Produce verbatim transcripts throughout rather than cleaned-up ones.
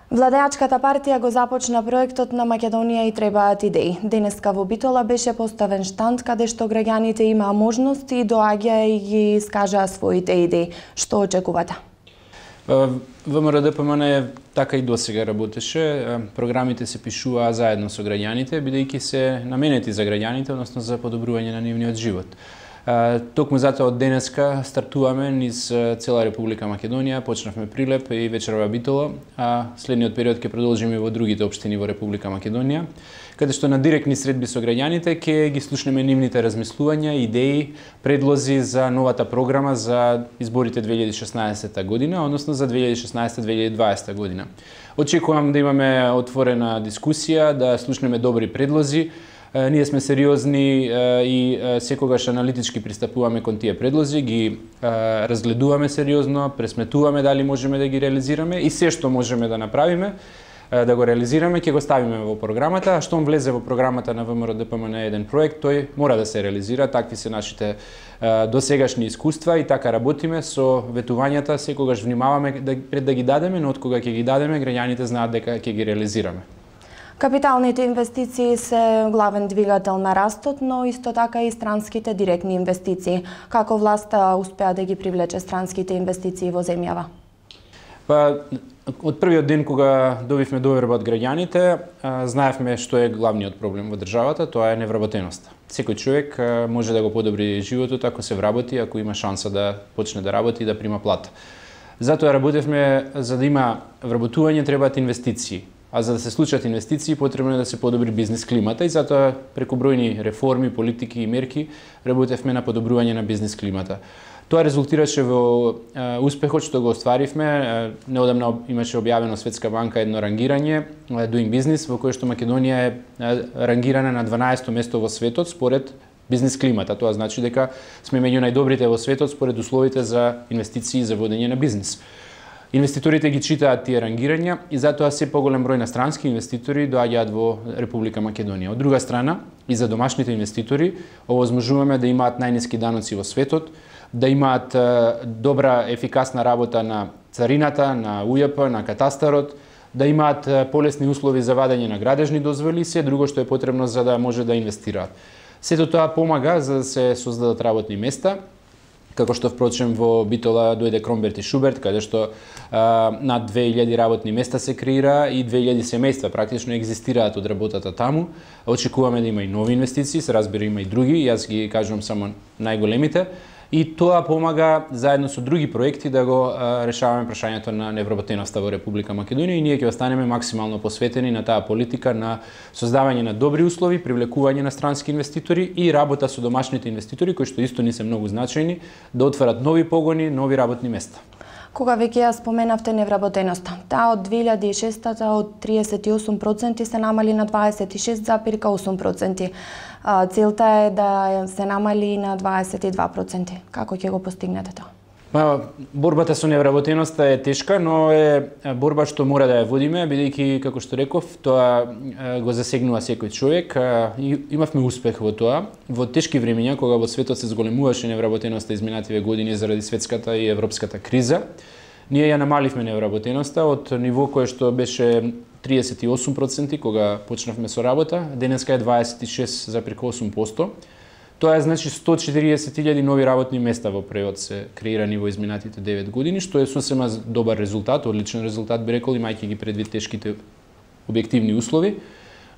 Владеачката партија го започна проектот на Македонија и требаат идеи. Денеска во Битола беше поставен штанд каде што граѓаните имаа можност и доаѓаа и ги искажаа своите идеи. Што очекувате? ВМРО-ДПМН така и досега работеше. Програмите се пишуваа заедно со граѓаните, бидејќи се наменети за граѓаните, односно за подобрување на нивниот живот. Токму затоа од денеска стартуваме низ цела Република Македонија, почнавме Прилеп и вечерва Битола, а следниот период ќе продолжиме и во другите општини во Република Македонија, каде што на директни средби со граѓаните ќе ги слушнеме нивните размислувања, идеи, предлози за новата програма за изборите две илјади и шеснаесетта година, односно за две илјади и шеснаесетта - две илјади и дваесетта година. Очекувам да имаме отворена дискусија, да слушнеме добри предлози. Ние сме сериозни и секогаш аналитички пристапуваме кон тие предлози, ги разгледуваме сериозно, пресметуваме дали можеме да ги реализираме и се што можеме да направиме, да го реализираме, ќе го ставиме во програмата, а штом влезе во програмата на ВМРО-ДПМН еден проект, тој мора да се реализира, такви се нашите досегашни искуства и така работиме со ветувањата, секогаш внимаваме да, пред да ги дадеме, но од кога ќе ги дадеме, граѓаните знаат дека ќе ги реализираме. Капиталните инвестиции се главен двигател на растот, но исто така и странските директни инвестиции. Како власта успеа да ги привлече странските инвестиции во земјава? Па, од првиот ден кога добивме доверба од граѓаните, знаевме што е главниот проблем во државата, тоа е невработеноста. Секој човек може да го подобри животот ако се вработи, ако има шанса да почне да работи и да прима плата. Затоа работевме, за да има вработување требаат инвестиции. А за да се случат инвестиции, потребно е да се подобри бизнис климата и затоа преку бројни реформи, политики и мерки работевме на подобрување на бизнис климата. Тоа резултираше во е, успехот што го остваривме. Е, неодамна имаше објавено Светска банка едно рангирање, Doing Business, во кое што Македонија е, е рангирана на дванаесто место во светот според бизнис климата. Тоа значи дека сме меѓу најдобрите во светот според условите за инвестиции и за водење на бизнис. Инвеститорите ги читаат тие рангирања и затоа се поголем број на странски инвеститори доаѓаат во Република Македонија. Од друга страна, и за домашните инвеститори овозможуваме да имаат најниски даноци во светот, да имаат добра ефикасна работа на царината, на У Ј П, на катастарот, да имаат полесни услови за вадење на градежни дозволи и се друго што е потребно за да може да инвестираат. Сето тоа помага за да се создадат работни места, како што впрочем во Битола дојде Кромберт и Шуберт, каде што а, над две илјади работни места се креира и две илјади семејства практично екзистираат од работата таму. Очекуваме да има и нови инвестиции, се разбира има и други, јас ги кажувам само најголемите. И тоа помага заедно со други проекти да го а, решаваме прашањето на невработеноста во Република Македонија и ние ќе останеме максимално посветени на таа политика на создавање на добри услови, привлекување на странски инвеститори и работа со домашните инвеститори кои што исто не се многу значајни да отварат нови погони, нови работни места. Кога веќе ја споменавте невработеноста, таа од две илјади и шестта од триесет и осум проценти се намали на дваесет и шест зарез и осум проценти. Целта е да се намали на дваесет и два проценти. Како ќе го постигнете тоа? Па, борбата со невработеноста е тешка, но е борба што мора да ја водиме, бидејќи, како што реков, тоа го засегнува секој човек. Имавме успех во тоа. Во тешки времиња, кога во светот се зголемуваше невработеноста изминативе години заради светската и европската криза, ние ја намаливме невработеноста од ниво кое што беше триесет и осум проценти кога почнавме со работа, денеска е дваесет и шест зарез и осум проценти. Тоа е значи сто и четириесет илјади нови работни места во преод се креирани во изминатите девет години, што е сосема добар резултат, одличен резултат би рекол, имајќи ги предвид тешките објективни услови,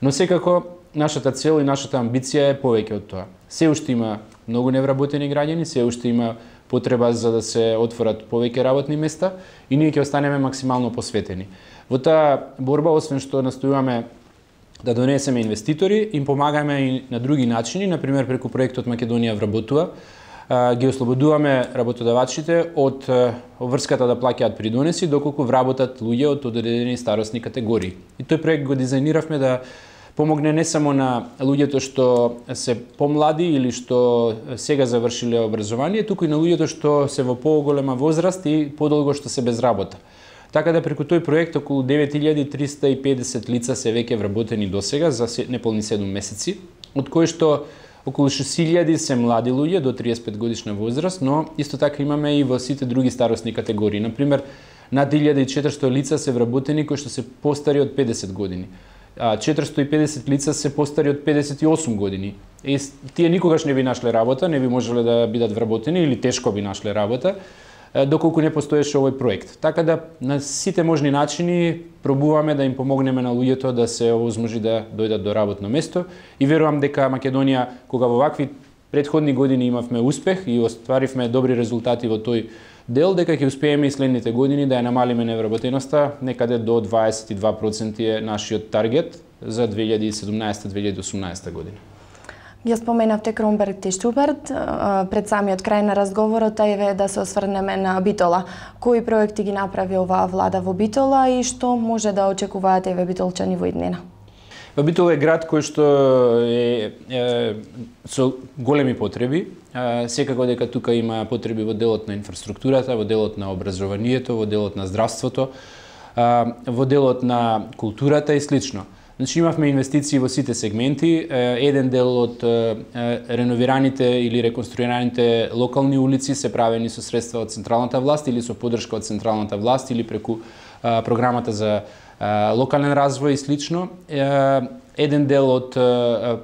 но секако нашата цел и нашата амбиција е повеќе од тоа. Се уште има многу невработени граѓани, се уште има потреба за да се отворат повеќе работни места и ние ќе останеме максимално посветени. Во таа борба, освен што настојуваме да донесеме инвеститори, им помагаме и на други начини, например преку проектот Македонија вработува, ги ослободуваме работодавачите од врската да плаќаат придонеси доколку вработат луѓе од одредени старосни категории. И тој проект го дизајниравме да помогне не само на луѓето што се помлади или што сега завршиле образование, туку и на луѓето што се во поголема возраст и подолго што се без работа. Така да преку тој проект околу девет илјади триста и педесет лица се веќе вработени досега за неполни седум месеци, од кои што околу шест илјади се млади луѓе до триесет и пет годишна возраст, но исто така имаме и во сите други старосни категории. Например, Над илјада и четиристотини лица се вработени кои што се постари од педесет години. четиристотини и педесет лица се постари од педесет и осум години. И тие никогаш не би нашле работа, не би можеле да бидат вработени или тешко би нашле работа, доколку не постоеше овој проект. Така да на сите можни начини пробуваме да им помогнеме на луѓето да се овозможи да дојдат до работно место и верувам дека Македонија, кога во вакви претходни години имавме успех и остваривме добри резултати во тој дел, дека ќе успееме и следните години да ја намалиме невработеноста, некаде до дваесет и два проценти е нашиот таргет за две илјади и седумнаесета - две илјади и осумнаесета година. Ја споменавте Кромберг и Штуберт, пред самиот крај на разговорот е да се осврнеме на Битола. Кои проекти ги направи оваа влада во Битола и што може да очекуваат еве битолчани во иднина? Битола е град кој што е, е со големи потреби. Секако дека тука има потреби во делот на инфраструктурата, во делот на образованието, во делот на здравството, во делот на културата и слично. Значи имавме инвестиции во сите сегменти. Еден дел од реновираните или реконструираните локални улици се правени со средства од централната власт или со поддршка од централната власт или преку програмата за локален развој и слично. Еден дел од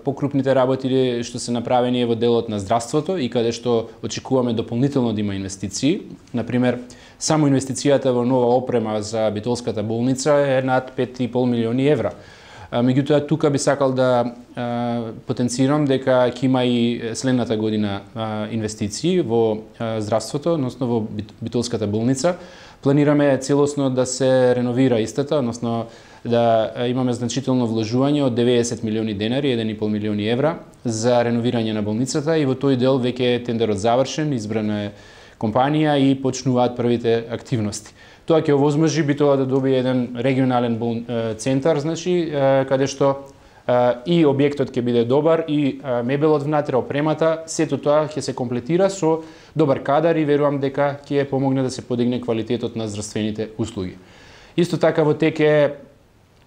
покрупните работи што се направени е во делот на здравството и каде што очекуваме дополнително да има инвестиции. Например, само инвестицијата во нова опрема за битолската болница е над пет и пол милиони евра. Меѓутоа, тука би сакал да а, потенцирам дека ќе има и следната година а, инвестиции во а, здравството, односно во битолската болница. Планираме целосно да се реновира истата, односно да имаме значително вложување од деветдесет милиони денари, еден и пол милиони евра, за реновирање на болницата и во тој дел веќе е тендерот завршен, избрана е компанија и почнуваат првите активности. Тоа ќе овозможи Битола да добие еден регионален бол... центар, значи, каде што и објектот ќе биде добар и мебелот внатре, опремата, сето тоа ќе се комплетира со добар кадар и верувам дека ќе помогне да се подигне квалитетот на здравствените услуги. Исто така во тек е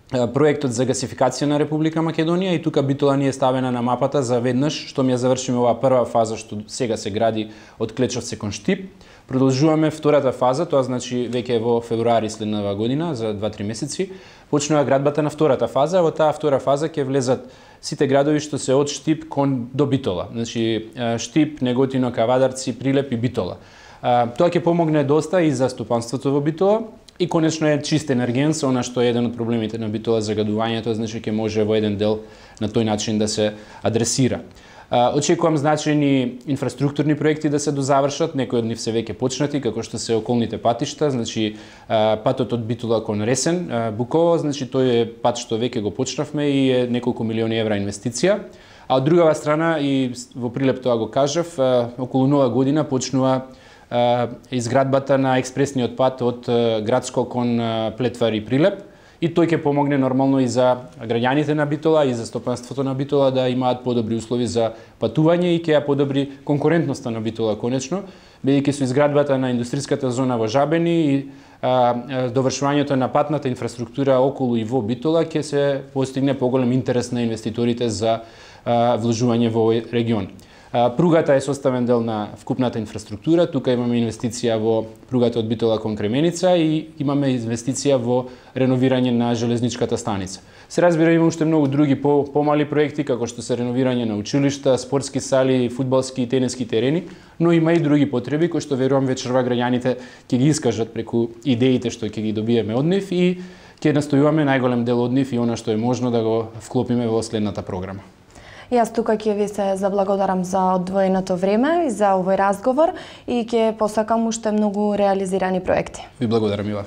проектот за гасификација на Република Македонија и тука Битола ни е ставена на мапата за веднаш, што ми ја завршиме оваа прва фаза што сега се гради од Клечовце кон Штип. Продолжуваме втората фаза, тоа значи веќе во февруари следнава година, за два-три месеци, почнува градбата на втората фаза. Во таа втора фаза ќе влезат сите градови што се од Штип кон до Битола. Значи Штип, Неготино, Кавадарци, Прилеп и Битола. Тоа ќе помогне доста и за стопанството во Битола и конечно е чист енергенс, она што е еден од проблемите на Битола, загадувањето, значи ќе може во еден дел на тој начин да се адресира. Очекувам значајни инфраструктурни проекти да се дозавршат, некои од нив се веќе почнати, како што се околните патишта, значи патот од Битола кон Ресен, Буково, значи тој е пат што веќе го почнавме и е неколку милиони евра инвестиција. А од другава страна, и во Прилеп тоа го кажав, околу нова година почнува изградбата на експресниот пат од Градско кон Плетвар и Прилеп. И тој ќе помогне нормално и за граѓаните на Битола и за стопанството на Битола да имаат подобри услови за патување и ќе ја подобри конкурентноста на Битола конечно, бидејќи со изградбата на индустриската зона во Жабени и а, довршувањето на патната инфраструктура околу и во Битола ќе се постигне поголем интерес на инвеститорите за а, вложување во овој регион. Пругата е составен дел на вкупната инфраструктура. Тука имаме инвестиција во пругата од Битола кон Кременица и имаме инвестиција во реновирање на железничката станица. Се разбира, има уште многу други по, помали проекти, како што се реновирање на училишта, спортски сали, фудбалски и тениски терени, но има и други потреби кои што верувам вечерва граѓаните ќе ги искажат преку идеите што ќе ги добиеме од нив и ќе настојуваме најголем дел од нив и она што е можно да го вклопиме во следната програма. Јас тука ќе ви се заблагодарам за одвоеното време и за овој разговор и ќе посакам уште многу реализирани проекти. Ви благодарам, Мила.